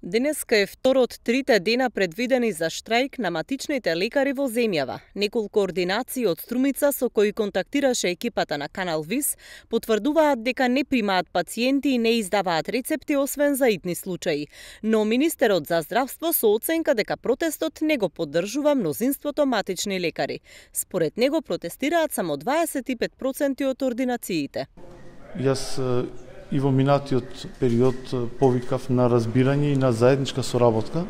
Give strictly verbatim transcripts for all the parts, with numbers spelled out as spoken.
Денеска е втор од трите дена предвидени за штрајк на матичните лекари во земјава. Неколку ординации од Струмица со кои контактираше екипата на Канал Вис потврдуваат дека не примаат пациенти и не издаваат рецепти освен за итни случаи. Но министерот за здравство со оценка дека протестот не го поддржува мнозинството матични лекари. Според него протестираат само дваесет и пет проценти од ординациите. Јас и во минатиот период повикав на разбирање и на заедничка соработка,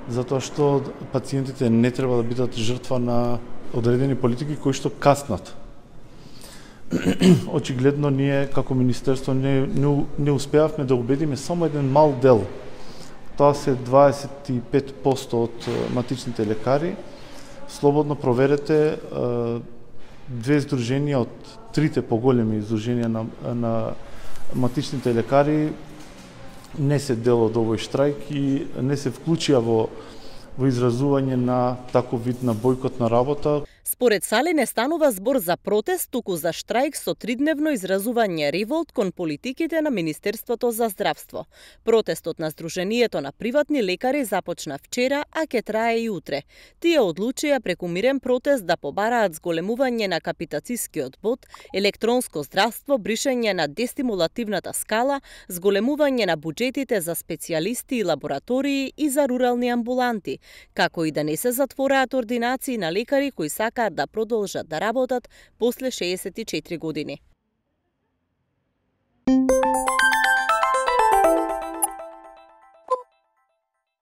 затоа што пациентите не треба да бидат жртва на одредени политики кои што каснат. Очигледно ние како министерство не, не, не успеавме да убедиме само еден мал дел. Тоа се дваесет и пет проценти од матичните лекари. Слободно проверете две здруженија од трите поголеми здруженија на, на матичните лекари не се дел од овој штрајк и не се вклучија во во изразување на таков вид на бојкот на работа. Според Сали не станува збор за протест, туку за штрајк со тридневно изразување револт кон политиките на Министерството за здравство. Протестот на Сдруженијето на приватни лекари започна вчера, а ќе трае и утре. Тие одлучија преку мирен протест да побараат зголемување на капитацискиот бод, електронско здравство, бришење на дестимулативната скала, зголемување на буџетите за специјалисти и лаборатории и за рурални амбуланти, како и да не се затвораат ординации на лекари кои сакаат да продолжат да работат после шеесет и четири години.